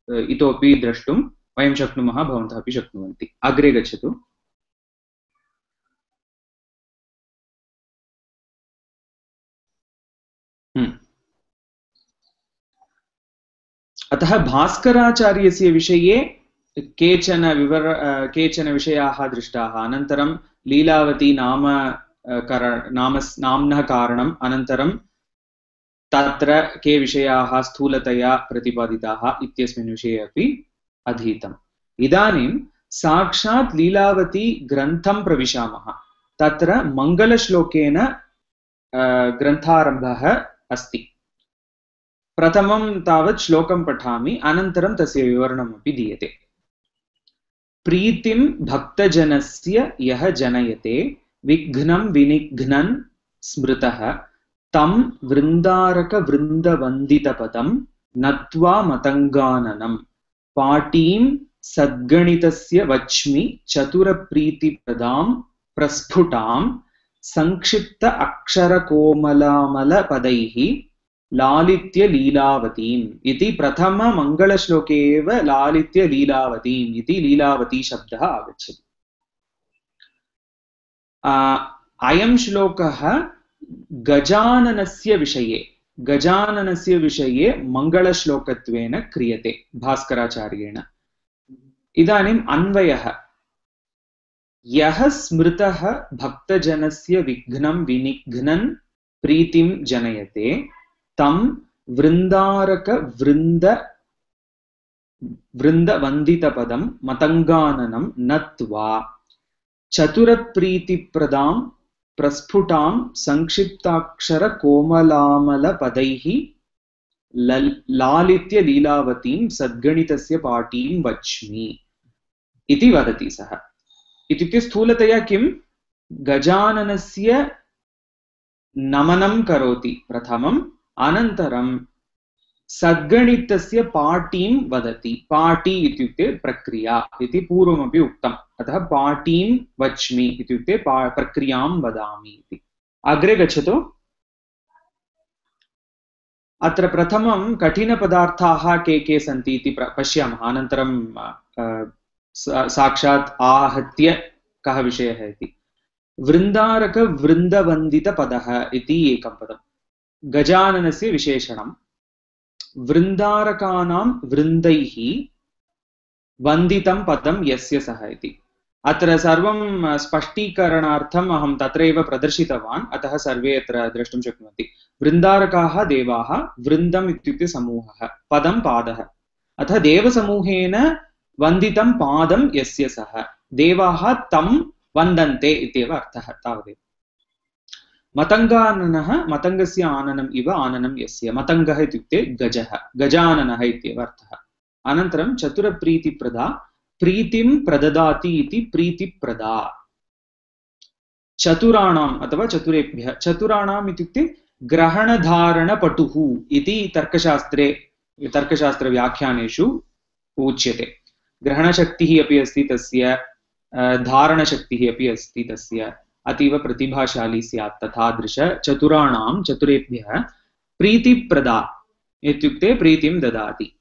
इतोपि द्रष्टुं वयं शक्नुमः भवन्तः अपि शक्नुवन्ति अग्रे गच्छतु अतः भास्कराचार्यस्य विषये केचन विषयाः दृष्टाः अनन्तरं लीलावती नाम्नः कारणम् अनन्तरं तत्र के विषयाः स्थूलतया प्रतिपादिताः इत्यस्मिन् विषये अपि अधीतम् इदानीं साक्षात् लीलावती ग्रन्थं प्रविशामः तत्र मङ्गलश्लोकेन ग्रन्थारम्भः अस्ति प्रथमं तावत् श्लोकं पठामि अनन्तरं तस्य विवरणमपि दीयते प्रीतिं भक्तजनस्य यः जनयते विघ्नं विनिघ्नन् स्मृतः तं वृन्दारकवृन्दवन्दितपदं नत्वा मतङ्गाननं पाटीं सद्गणितस्य वच्मि चतुरप्रीतिप्रदां प्रस्फुटां संक्षिप्त अक्षरकोमलामलपदैः लालित्य लीलावतीम् इति प्रथममङ्गलश्लोके एव लालित्य लीलावतीम् इति लीलावती शब्दः आगच्छति। अयं श्लोकः गजाननस्य विषये मङ्गलश्लोकत्वेन क्रियते भास्कराचार्येण। इदानीम् अन्वयः। यः स्मृतः भक्तजनस्य विघ्नं विनिघ्नन् प्रीतिं जनयते तं वृन्दवन्दितपदं मतङ्गाननं नत्वा चतुरप्रीतिप्रदां प्रस्फुटां संक्षिप्ताक्षरकोमलामलपदैः लालित्य लीलावतीं सद्गणितस्य पाटीं वच्मि इति वदति सः। इत्युक्ते स्थूलतया किं, गजाननस्य नमनं करोति प्रथमम्, अनन्तरं सद्गणितस्य पाटीं वदति। पाटी इत्युक्ते प्रक्रिया इति पूर्वमपि उक्तम्, अतः पाटीं वच्मि इत्युक्ते प्रक्रियां वदामि इति। अग्रे गच्छतु। अत्र प्रथमं कठिनपदार्थाः के सन्ति इति पश्यामः, अनन्तरं साक्षात् आहत्य कः विषयः इति। वृन्दारकवृन्दवन्दितपदः इति एकं पदं, गजाननस्य विशेषणं। वृन्दारकानां वृन्दैः वन्दितं पदं यस्य सः इति। अत्र सर्वं स्पष्टीकरणार्थम् अहं तत्रैव प्रदर्शितवान्, अतः सर्वे अत्र द्रष्टुं शक्नुवन्ति। वृन्दारकाः देवाः, वृन्दम् इत्युक्ते समूहः, पदं पादः, अतः देवसमूहेन वन्दितं पादं यस्य सः, देवाः तं वन्दन्ते इत्येव अर्थः, तावदेव। मतङ्गाननः, मतङ्गस्य आननम् इव आननं यस्य, मतङ्गः इत्युक्ते गजः, गजाननः इत्येव अर्थः। अनन्तरं चतुरप्रीतिप्रदा, प्रीतिं प्रददाति इति प्रीतिप्रदा। चतुराणाम् अथवा चतुरेभ्यः, चतुराणाम् इत्युक्ते ग्रहणधारणपटुः इति तर्कशास्त्रव्याख्यानेषु उच्यते। ग्रहणशक्तिः अपि अस्ति तस्य, धारणशक्तिः अपि अस्ति तस्य, अतीव प्रतिभाशाली स्यात्। तथादृश चतुराणां, चतुरेभ्यः प्रीतिप्रदा इत्युक्ते प्रीतिं ददाति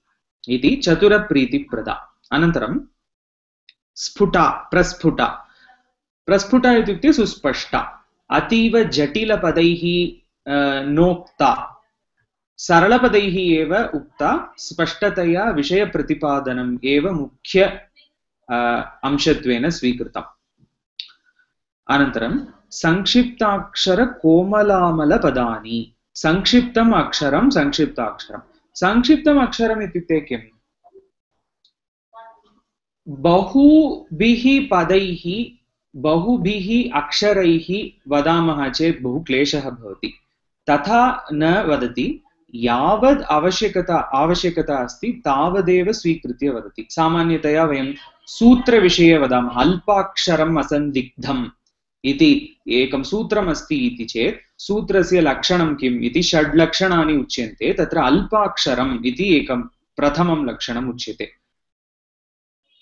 इति चतुरप्रीतिप्रदा। अनन्तरं स्फुटा, प्रस्फुटा। प्रस्फुटा इत्युक्ते सुस्पष्टा, अतीव जटिलपदैः नोक्ता, सरलपदैः एव उक्ता, स्पष्टतया विषयप्रतिपादनम् एव मुख्य अंशत्वेन स्वीकृतम्। अनन्तरं संक्षिप्ताक्षरकोमलामलपदानि। संक्षिप्तम् अक्षरं, संक्षिप्ताक्षरं। संक्षिप्तम् अक्षरम् इत्युक्ते किम्? बहुभिः पदैः, बहुभिः अक्षरैः वदामः चेत् बहु क्लेशः भवति, तथा न वदति। यावद् आवश्यकता अस्ति तावदेव स्वीकृत्य वदति। सामान्यतया वयं सूत्रविषये वदामः, अल्पाक्षरम् असन्दिग्धम् इति एकं सूत्रमस्ति इति चेत् सूत्रस्य लक्षणं किम् इति षड्लक्षणानि उच्यन्ते। तत्र अल्पाक्षरम् इति एकं प्रथमं लक्षणम् उच्यते।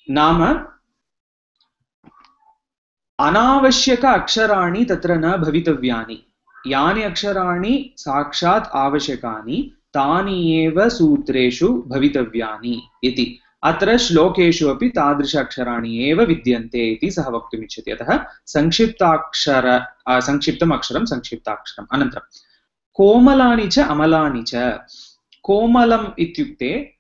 नाम अनावश्यक अक्षराणि तत्र न भवितव्यानि, यानि अक्षराणि साक्षात् आवश्यकानि तानि एव सूत्रेषु भवितव्यानि इति। अत्र श्लोकेषु अपि तादृश अक्षराणि एव विद्यन्ते इति सः वक्तुमिच्छति। अतः संक्षिप्तम् अक्षरं, संक्षिप्ताक्षरम्। अनन्तरं कोमलानि च अमलानि च। कोमलम् इत्युक्ते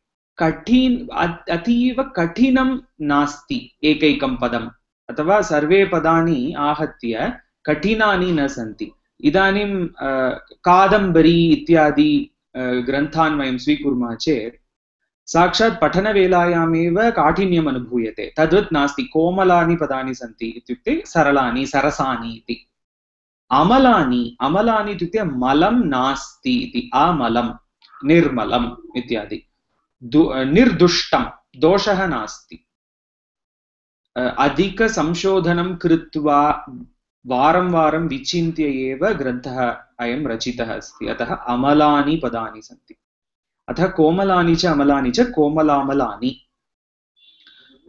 अतीव कठिनं नास्ति एकैकं पदम्, अथवा सर्वे पदानि आहत्य कठिनानि न सन्ति। इदानीं कादम्बरी इत्यादि ग्रन्थान् वयं स्वीकुर्मः चेत् साक्षात् पठनवेलायामेव काठिन्यम् अनुभूयते, तद्वत् नास्ति। कोमलानि पदानि सन्ति इत्युक्ते सरलानि, सरसानि इति। अमलानि, अमलानि इत्युक्ते मलं नास्ति इति, अमलं, निर्मलम् इत्यादि। निर्दुष्टं, दोषः नास्ति। अधिकसंशोधनं कृत्वा वारं वारं विचिन्त्य एव ग्रन्थः अयं रचितः अस्ति, अतः अमलानि पदानि सन्ति। अतः कोमलानि च अमलानि च कोमलामलानि।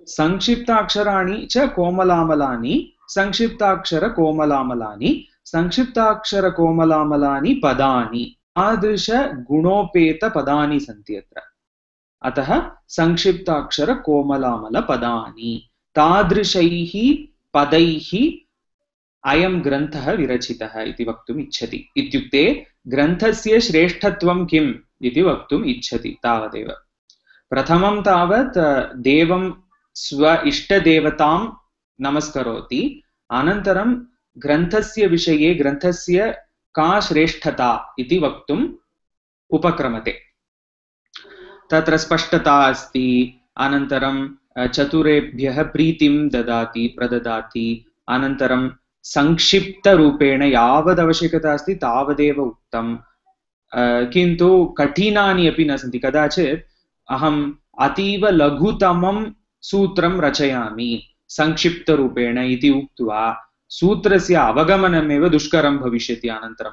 संक्षिप्ताक्षराणि च कोमलामलानि, संक्षिप्ताक्षरकोमलामलानि, संक्षिप्ताक्षरकोमलामलानि पदानि तादृशगुणोपेतपदानि सन्ति अत्र। अतः संक्षिप्ताक्षरकोमलामलपदानि तादृशैः पदैः अयं ग्रन्थः विरचितः इति वक्तुम् इच्छति। इत्युक्ते ग्रन्थस्य श्रेष्ठत्वं किम् इति वक्तुम् इच्छति तावदेव। प्रथमं तावत् देवं स्व इष्टदेवतां नमस्करोति, अनन्तरं ग्रन्थस्य विषये ग्रन्थस्य का श्रेष्ठता इति वक्तुम् उपक्रमते। तत्र स्पष्टता अस्ति, अनन्तरं चतुरेभ्यः प्रीतिं प्रददाति, अनन्तरं संक्षिप्तरूपेण यावदवश्यकता अस्ति तावदेव उक्तं, किन्तु कठिनानि अपि न सन्ति। कदाचित् अहम् अतीव लघुतमं सूत्रं रचयामि संक्षिप्तरूपेण इति उक्त्वा सूत्रस्य अवगमनमेव दुष्करं भविष्यति अनन्तरं,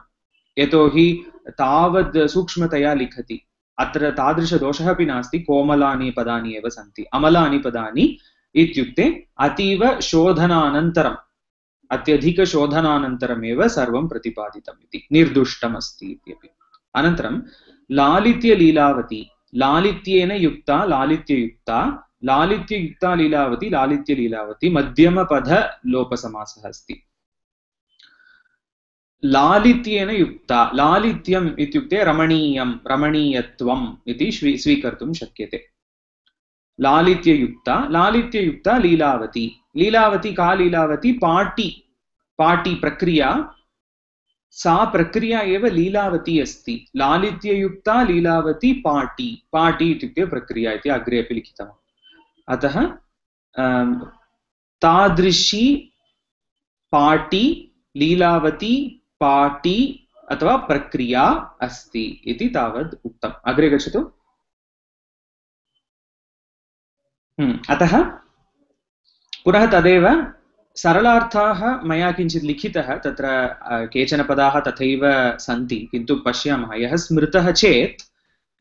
यतोहि तावद् सूक्ष्मतया लिखति। अत्र तादृशदोषः अपि नास्ति, कोमलानि पदानि एव सन्ति। अमलानि पदानि इत्युक्ते अतीव शोधनानन्तरम्, अत्यधिकशोधनानन्तरमेव सर्वं प्रतिपादितम् इति, निर्दुष्टमस्ति इत्यपि। अनन्तरं लालित्यलीलावती, लालित्येन युक्ता लालित्ययुक्ता, लालित्ययुक्ता लीलावती, लालित्यलीलावती मध्यमपदलोपसमासः अस्ति। लालित्येन युक्ता, लालित्यम् इत्युक्ते रमणीयं, रमणीयत्वम् इति स्वीकर्तुं शक्यते। लालित्ययुक्ता, लालित्ययुक्ता लीलावती, लीलावती का लीलावती? पाटी, पाटी प्रक्रिया, सा प्रक्रिया एव लीलावती अस्ति। लालित्ययुक्ता लीलावती पाटी, पाटी इत्युक्ते प्रक्रिया इति अग्रे अपि लिखितम्। अतः तादृशी पाटी लीलावती पाटी अथवा प्रक्रिया अस्ति इति तावद् उक्तम्। अग्रे गच्छतु। अतः पुनः तदेव सरलार्थाः मया किञ्चित् लिखितः, तत्र केचन पदाः तथैव सन्ति, किन्तु पश्यामः, यः स्मृतः चेत्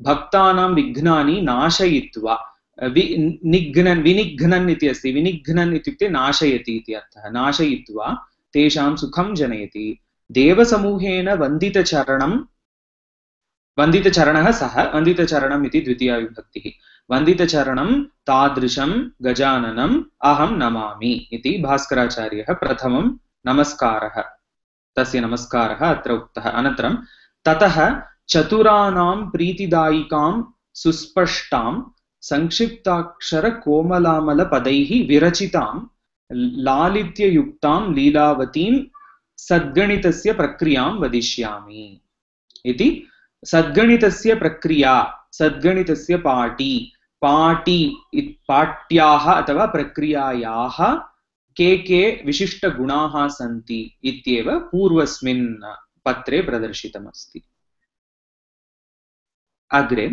भक्तानां विघ्नानि नाशयित्वा, विनिघ्नन् इति अस्ति, विनिघ्नन् इत्युक्ते नाशयति इति अर्थः, नाशयित्वा तेषां सुखं जनयति। देवसमूहेन वन्दितचरणः सः, वन्दितचरणम् इति द्वितीया विभक्तिः, वन्दितचरणं तादृशं गजाननम् अहं नमामि इति भास्कराचार्यः प्रथमं नमस्कारः, तस्य नमस्कारः अत्र उक्तः। अनन्तरं ततः चतुराणां प्रीतिदायिकां सुस्पष्टां संक्षिप्ताक्षरकोमलामलपदैः विरचितां लालित्ययुक्तां लीलावतीं सद्गणितस्य प्रक्रियां वदिष्यामि इति। सद्गणितस्य प्रक्रिया, सद्गणितस्य पाटी, पाट्याः अथवा प्रक्रियायाः के विशिष्टगुणाः सन्ति इत्येव पूर्वस्मिन् पत्रे प्रदर्शितमस्ति। अग्रे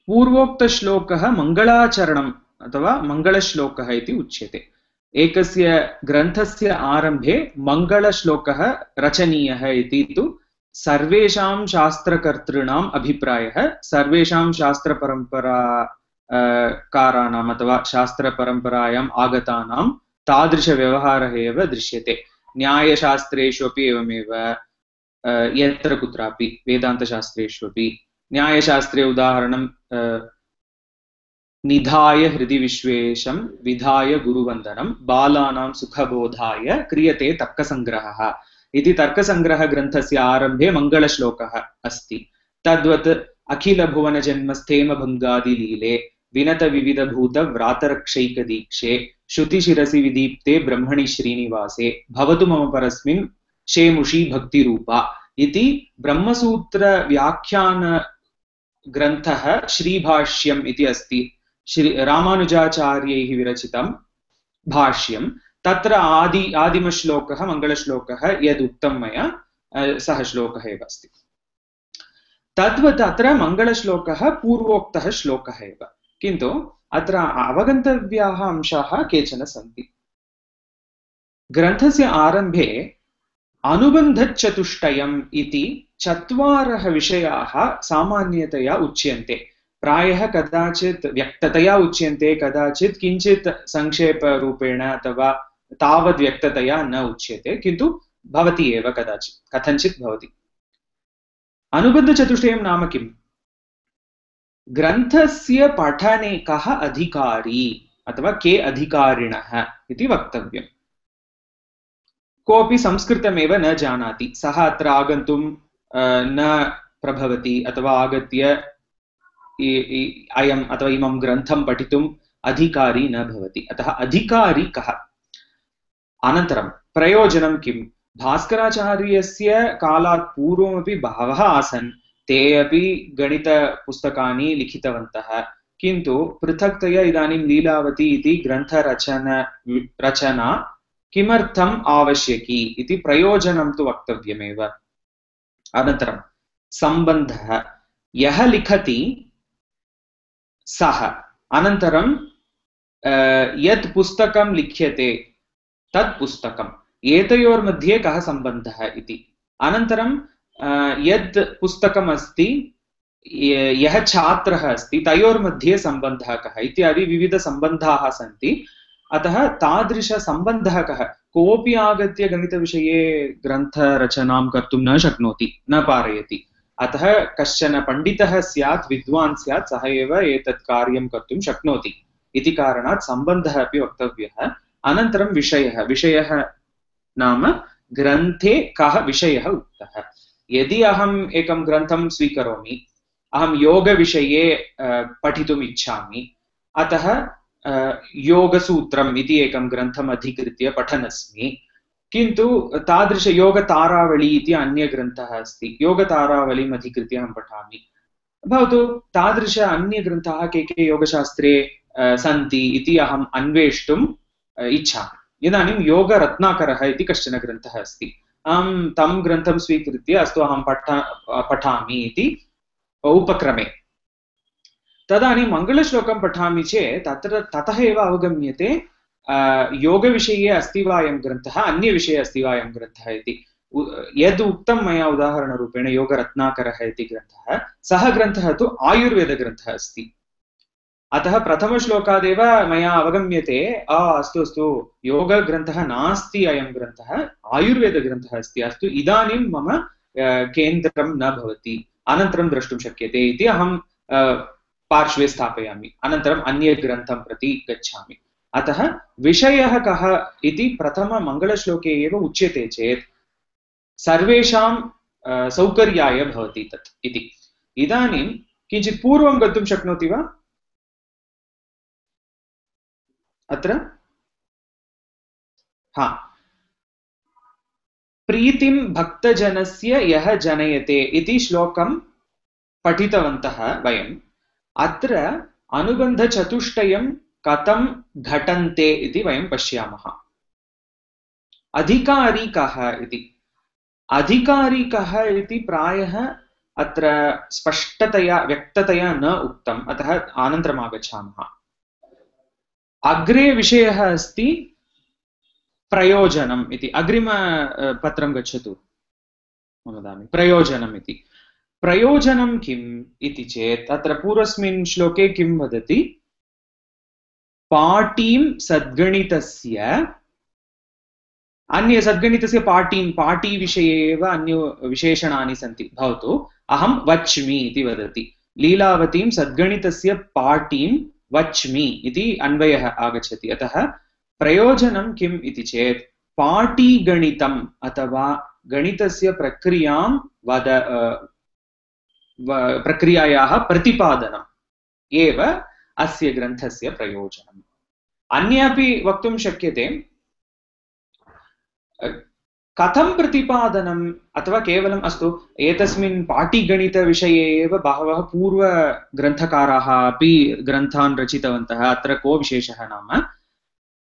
पूर्वोक्तश्लोकः मङ्गलाचरणम् अथवा मङ्गलश्लोकः इति उच्यते। एकस्य ग्रन्थस्य आरम्भे मङ्गलश्लोकः रचनीयः इति तु सर्वेषां शास्त्रकर्तॄणाम् अभिप्रायः, सर्वेषां शास्त्रपरम्पराकाराणाम् अथवा शास्त्रपरम्परायाम् आगतानां तादृशव्यवहारः एव दृश्यते। न्यायशास्त्रेषु अपि एवमेव, यत्र कुत्रापि वेदान्तशास्त्रेषु अपि। न्यायशास्त्रे उदाहरणं निधाय हृदि विश्वेशं विधाय गुरुवन्दनं बालानां सुखबोधाय क्रियते तर्कसङ्ग्रहः इति तर्कसङ्ग्रहग्रन्थस्य आरम्भे मङ्गलश्लोकः अस्ति। तद्वत् अखिलभुवनजन्मस्थेमभङ्गादिलीले विनतविविधभूतव्रातरक्षैकदीक्षे श्रुतिशिरसि विदीप्ते ब्रह्मणि श्रीनिवासे भवतु मम परस्मिन् शेमुषी भक्तिरूपा इति ब्रह्मसूत्रव्याख्यानग्रन्थः श्रीभाष्यम् इति अस्ति। रामानुजाचार्यैः विरचितं भाष्यं। तत्र आदिमश्लोकः मङ्गलश्लोकः यदुक्तं मया सः श्लोकः एव अस्ति। तद्वत् अत्र मङ्गलश्लोकः पूर्वोक्तः श्लोकः एव, किन्तु अत्र अवगन्तव्याः अंशाः केचन सन्ति। ग्रन्थस्य आरम्भे अनुबन्धचतुष्टयम् इति 4 विषयाः सामान्यतया उच्यन्ते। प्रायः कदाचित् व्यक्ततया उच्यन्ते, कदाचित् किञ्चित् संक्षेपरूपेण अथवा तावद् व्यक्ततया न उच्यते, किन्तु भवति एव कदाचित्, कथञ्चित् भवति। अनुबन्धचतुष्टयं नाम किम्? ग्रन्थस्य पठने कः अधिकारी अथवा के अधिकारिणः इति वक्तव्यम्। कोऽपि संस्कृतमेव न जानाति, सः अत्र आगन्तुं न प्रभवति अथवा आगत्य अयम् अथवा इमं ग्रन्थं पठितुम् अधिकारी न भवति। अतः अधिकारी कः? अनन्तरं प्रयोजनं किं? भास्कराचार्यस्य कालात् पूर्वमपि बहवः आसन्, ते अपि गणितपुस्तकानि लिखितवन्तः, किन्तु पृथक्तया इदानीं लीलावती इति ग्रन्थरचना किमर्थम् आवश्यकी इति प्रयोजनं तु वक्तव्यमेव। अनन्तरं सम्बन्धः, यः लिखति सः, अनन्तरं यत् पुस्तकं लिख्यते तत् पुस्तकम्, एतयोर्मध्ये कः सम्बन्धः इति। अनन्तरं यत् पुस्तकम् अस्ति, यः छात्रः अस्ति, तयोर्मध्ये सम्बन्धः कः इत्यादि विविधसम्बन्धाः सन्ति। अतः तादृशसम्बन्धः कः? कोऽपि आगत्य गणितविषये ग्रन्थरचनां कर्तुं न शक्नोति, न पारयति। अतः कश्चन पण्डितः स्यात्, विद्वान् स्यात्, सः एव एतत् कार्यं कर्तुं शक्नोति इति कारणात् सम्बन्धः अपि वक्तव्यः। अनन्तरं विषयः नाम ग्रन्थे कः विषयः उक्तः। यदि अहम् एकं ग्रन्थं स्वीकरोमि, अहं योगविषये पठितुम् इच्छामि, अतः योगसूत्रम् इति एकं ग्रन्थम् अधिकृत्य पठनस्मि, किन्तु तादृशयोगतारावली इति अन्यग्रन्थः अस्ति, योगतारावलीम् अधिकृत्य अहं पठामि। भवतु तादृश अन्यग्रन्थाः के योगशास्त्रे सन्ति इति अहम् अन्वेष्टुम् इच्छामि। इदानीं योगरत्नाकरः इति कश्चन ग्रन्थः अस्ति, अहं तं ग्रन्थं स्वीकृत्य अस्तु अहं पठामि इति उपक्रमे, तदानीं मङ्गलश्लोकं पठामि चेत् ततः एव अवगम्यते योगविषये अस्ति वा अयं ग्रन्थः, अन्यविषये अस्ति वा अयं ग्रन्थः इति। यद् उक्तं मया उदाहरणरूपेण योगरत्नाकरः इति ग्रन्थः, सः ग्रन्थः तु आयुर्वेदग्रन्थः अस्ति। अतः प्रथमश्लोकादेव मया अवगम्यते अस्तु योगग्रन्थः नास्ति, अयं ग्रन्थः आयुर्वेदग्रन्थः अस्ति, अस्तु इदानीं मम केन्द्रं न भवति, अनन्तरं द्रष्टुं शक्यते इति अहं पार्श्वे स्थापयामि, अनन्तरम् अन्यग्रन्थं प्रति गच्छामि। अतः विषयः कः इति प्रथममङ्गलश्लोके एव उच्यते चेत् सर्वेषां सौकर्याय भवति तत् इति। इदानीं किञ्चित् पूर्वं गन्तुं शक्नोति वा? अत्र प्रीतिं भक्तजनस्य यः जनयते इति श्लोकं पठितवन्तः वयम्। अत्र अनुबन्धचतुष्टयं कथं घटन्ते इति वयं पश्यामः। अधिकारी कः इति, अधिकारी कः इति प्रायः अत्र स्पष्टतया व्यक्ततया न उक्तम्, अतः अनन्तरम् आगच्छामः। अग्रे विषयः अस्ति प्रयोजनम् इति। अग्रिमपत्रं गच्छतु, वदामि प्रयोजनम् इति। प्रयोजनं किम् इति चेत् अत्र पूर्वस्मिन् श्लोके किं वदति? पाटीं सद्गणितस्य, सद्गणितस्य पाटीविषये एव अन्य विशेषणानि सन्ति। भवतु अहं वच्मि इति वदति, लीलावतीं सद्गणितस्य पाटीं वच्मि इति अन्वयः आगच्छति। अतः प्रयोजनं किम् इति चेत् पाटीगणितम् अथवा गणितस्य प्रक्रियायाः प्रतिपादनम् एव अस्य ग्रन्थस्य प्रयोजनम्। अन्यपि वक्तुं शक्यते कथं प्रतिपादनम्, अथवा केवलम् अस्तु एतस्मिन् पाटीगणितविषये एव बहवः पूर्वग्रन्थकाराः अपि ग्रन्थान् रचितवन्तः। अत्र को विशेषः नाम,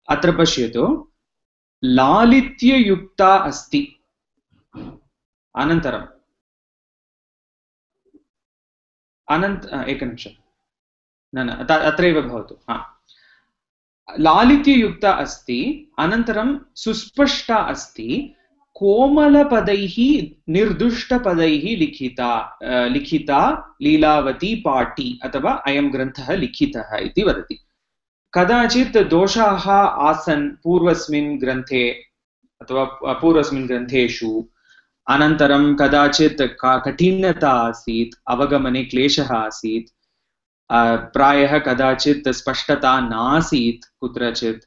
अत्र पश्यतु, लालित्ययुक्ता अस्ति, अनन्तरम् एकनिमिषम्, अत्रैव भवतु। लालित्ययुक्ता अस्ति, अनन्तरं सुस्पष्टा अस्ति, कोमलपदैः निर्दुष्टपदैः लिखिता लीलावती पाटी अथवा अयं ग्रन्थः लिखितः इति वदति। कदाचित् दोषाः आसन् पूर्वस्मिन् ग्रन्थे अथवा पूर्वस्मिन् ग्रन्थेषु, अनन्तरं कदाचित् कठिनता आसीत्, अवगमने क्लेशः आसीत्, प्रायः कदाचित् स्पष्टता नासीत् कुत्रचित्,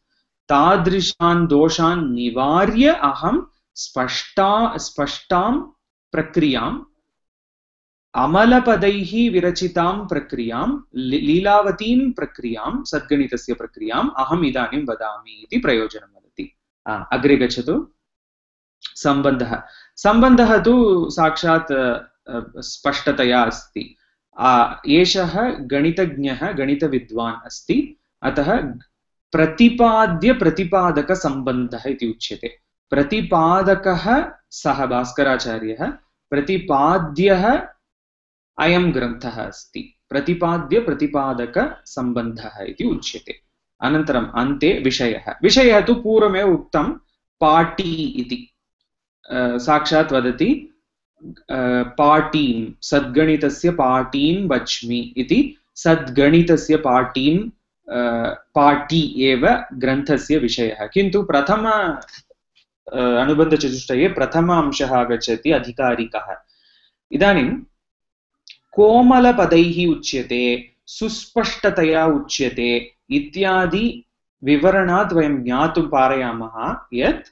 तादृशान् दोषान् निवार्य अहं स्पष्टां प्रक्रियाम्, अमलपदैः विरचितां प्रक्रियां, लीलावतीं प्रक्रियां, सद्गणितस्य प्रक्रियाम् अहम् इदानीं वदामि इति प्रयोजनं वदति। अग्रे गच्छतु। सम्बन्धः तु साक्षात् स्पष्टतया अस्ति। एषः गणितज्ञः, गणितविद्वान् अस्ति, अतः प्रतिपाद्यप्रतिपादकसम्बन्धः इति उच्यते। प्रतिपादकः सः भास्कराचार्यः, प्रतिपाद्यः अयं ग्रन्थः अस्ति। प्रतिपाद्यप्रतिपादकसम्बन्धः इति उच्यते। अनन्तरम् अन्ते विषयः तु पूर्वमेव उक्तं, पाटी इति। साक्षात् वदति पाटीं, सद्गणितस्य पाटीं वच्मि इति। सद्गणितस्य पाटी एव ग्रन्थस्य विषयः। किन्तु प्रथम अनुबन्धचतुष्टये प्रथम अंशः आगच्छति, अधिकारिकः। इदानीं कोमलपदैः उच्यते, सुस्पष्टतया उच्यते इत्यादि विवरणात् वयं ज्ञातुं पारयामः यत्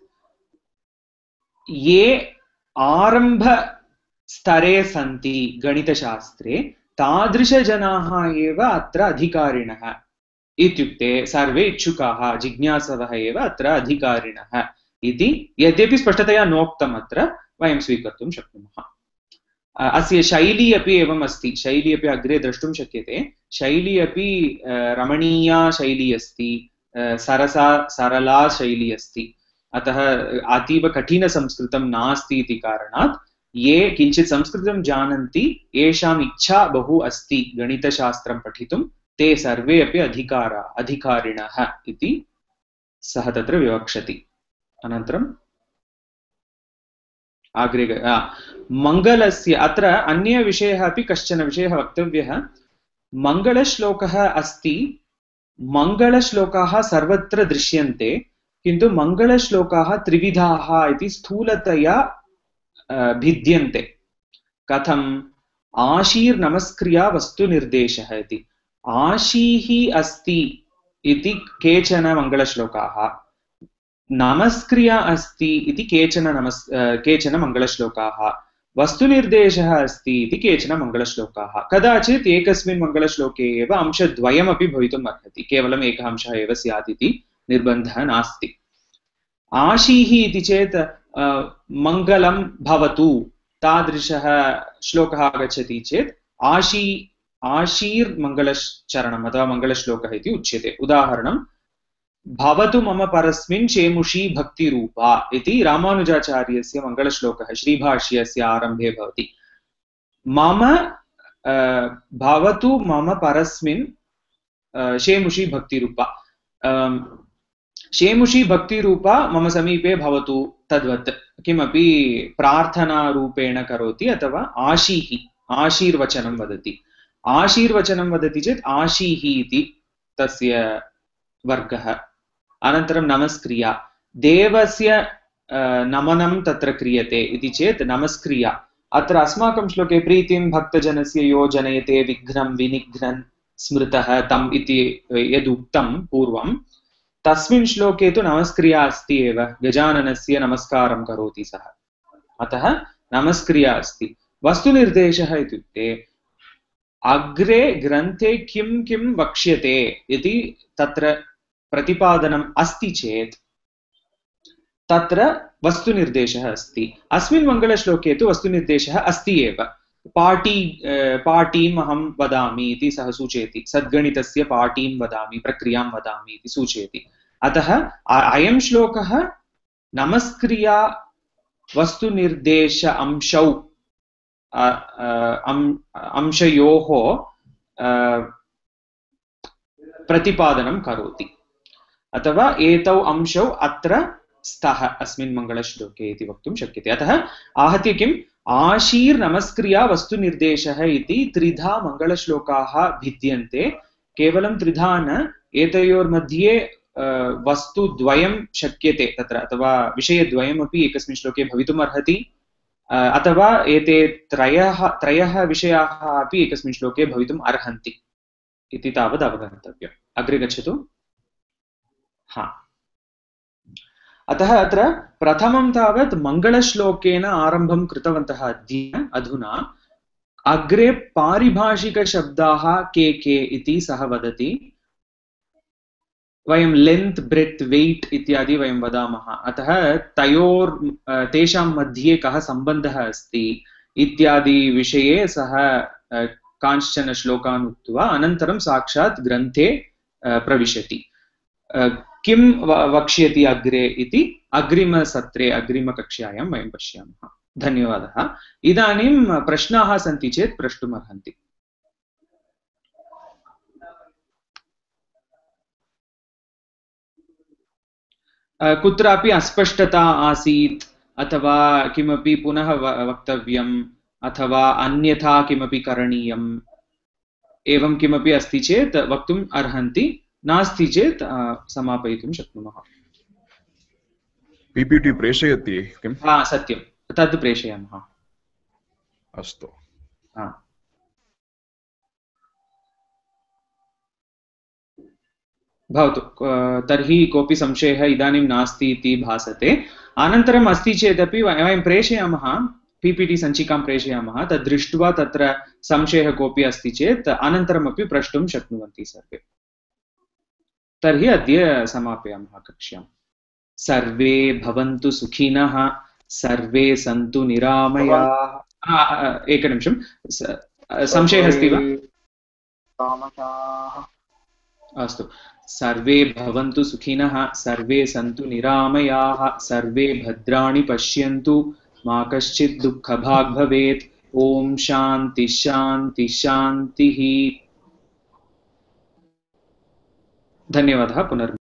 ये आरम्भस्तरे सन्ति गणितशास्त्रे, तादृशजनाः एव अत्र अधिकारिणः। इत्युक्ते सर्वे इच्छुकाः, जिज्ञासवः एव अत्र अधिकारिणः इति यद्यपि स्पष्टतया नोक्तम् अत्र वयं स्वीकर्तुं शक्नुमः। अस्य शैली अपि एवम् अस्ति। शैली अपि अग्रे द्रष्टुं शक्यते। शैली अपि रमणीया शैली अस्ति, सरला शैली अस्ति। अतः अतीव कठिनसंस्कृतं नास्ति इति कारणात् ये किञ्चित् संस्कृतं जानन्ति, येषाम् इच्छा बहु अस्ति गणितशास्त्रं पठितुं, ते सर्वे अपि अधिकारिणः इति सः तत्र विवक्षति। अनन्तरम् अग्रे मङ्गलस्य, अत्र अन्यविषयः अपि कश्चन विषयः वक्तव्यः। मङ्गलश्लोकः अस्ति, मङ्गलश्लोकाः सर्वत्र दृश्यन्ते, किन्तु मङ्गलश्लोकाः त्रिविधाः इति स्थूलतया भिद्यन्ते। कथम्? आशीर्नमस्क्रिया वस्तुनिर्देशः इति। आशीः अस्ति इति केचन मङ्गलश्लोकाः, नमस्क्रिया अस्ति इति केचन मङ्गलश्लोकाः, वस्तुनिर्देशः अस्ति इति केचन मङ्गलश्लोकाः। कदाचित् एकस्मिन् मङ्गलश्लोके एव अंशद्वयमपि भवितुम् अर्हति, केवलम् एकः अंशः एव स्यात् इति निर्बन्धः नास्ति। आशीः इति चेत् मङ्गलं भवतु तादृशः श्लोकः आगच्छति चेत् आशीर्मङ्गलचरणम् अथवा मङ्गलश्लोकः इति उच्यते। उदाहरणं, भवतु मम परस्मिन् चेमुषी भक्तिरूपा इति रामानुजाचार्यस्य मङ्गलश्लोकः श्रीभाष्यस्य आरम्भे भवति। मम भवतु मम परस्मिन् शेमुषी भक्तिरूपा, शेमुषी भक्तिरूपा मम समीपे भवतु, तद्वत् किमपि प्रार्थनारूपेण करोति, अथवा आशीर्वचनं वदति। आशीर्वचनं वदति चेत् आशीः इति तस्य वर्गः। अनन्तरं नमस्क्रिया, देवस्य नमनं तत्र क्रियते इति चेत् नमस्क्रिया। अत्र अस्माकं श्लोके प्रीतिं भक्तजनस्य यो जनयते विघ्नं विनिघ्नन् स्मृतः तम् इति यदुक्तं पूर्वं, तस्मिन् श्लोके तु नमस्क्रिया अस्ति एव। गजाननस्य नमस्कारं करोति सः, अतः नमस्क्रिया अस्ति। वस्तुनिर्देशः इत्युक्ते अग्रे ग्रन्थे किं किं वक्ष्यते इति तत्र प्रतिपादनम् अस्ति चेत् तत्र वस्तुनिर्देशः अस्ति। अस्मिन् मङ्गलश्लोके तु वस्तुनिर्देशः अस्ति एव। पाटीम् अहं वदामि इति सः सूचयति, सद्गणितस्य पाटीं वदामि, प्रक्रियां वदामि इति सूचयति। अतः अयं श्लोकः नमस्क्रिया वस्तुनिर्देश अंशयोः प्रतिपादनं करोति, अथवा एतौ अंशौ अत्र स्तः अस्मिन् मङ्गलश्लोके इति वक्तुं शक्यते। अतः आहत्य किम्, आशीर्नमस्क्रिया वस्तुनिर्देशः इति त्रिधा मङ्गलश्लोकाः भिद्यन्ते। केवलं त्रिधा न, एतयोर्मध्ये वस्तुद्वयं शक्यते तत्र, अथवा विषयद्वयमपि एकस्मिन् श्लोके भवितुम् अर्हति। अथवा एते त्रयः विषयाः अपि एकस्मिन् श्लोके भवितुम् अर्हन्ति इति तावत् अवगन्तव्यम्। अग्रे गच्छतु। हा, अतः अत्र प्रथमं तावत् मङ्गलश्लोकेन आरम्भं कृतवन्तः अद्य। अधुना अग्रे पारिभाषिकशब्दाः के के इति सः वदति। वयं लेन्त् ब्रेड्त् वेट् इत्यादि वयं वदामः। अतः तेषां मध्ये कः सम्बन्धः अस्ति इत्यादि विषये सः कांश्चन श्लोकान् उक्त्वा अनन्तरं साक्षात् ग्रन्थे प्रविशति। किं वक्ष्यति अग्रे इति अग्रिमसत्रे अग्रिमकक्ष्यायां वयं पश्यामः। धन्यवादः। इदानीं प्रश्नाः सन्ति चेत् प्रष्टुमर्हन्ति। कुत्रापि अस्पष्टता आसीत् अथवा किमपि पुनः वक्तव्यम् अथवा अन्यथा किमपि करणीयम् एवं किमपि अस्ति चेत् वक्तुम् अर्हन्ति, नास्ति चेत् समापयितुं शक्नुमः। पीपीटी प्रेषयति किं? हा, सत्यं, तद् प्रेषयामः। अस्तु। भवतु। तर्हि कोऽपि संशयः इदानीं नास्ति इति भासते। अनन्तरम् अस्ति चेदपि वयं प्रेषयामः, पीपीटी सञ्चिकां प्रेषयामः। तद् दृष्ट्वा तत्र संशयः कोऽपि अस्ति चेत् अनन्तरमपि प्रष्टुं शक्नुवन्ति सर्वे। तर्हि अद्य समापयामः कक्ष्यां। सर्वे भवन्तु सुखिनः, सर्वे सन्तु निरामयाः। एकनिमिषं, संशयः अस्ति वा? अस्तु। सर्वे भवन्तु सुखिनः, सर्वे सन्तु निरामयाः, सर्वे भद्राणि पश्यन्तु, मा कश्चित् दुःखभाग् भवेत्। ॐ शान्ति शान्ति शान्तिः। धन्यवादः। पुनर्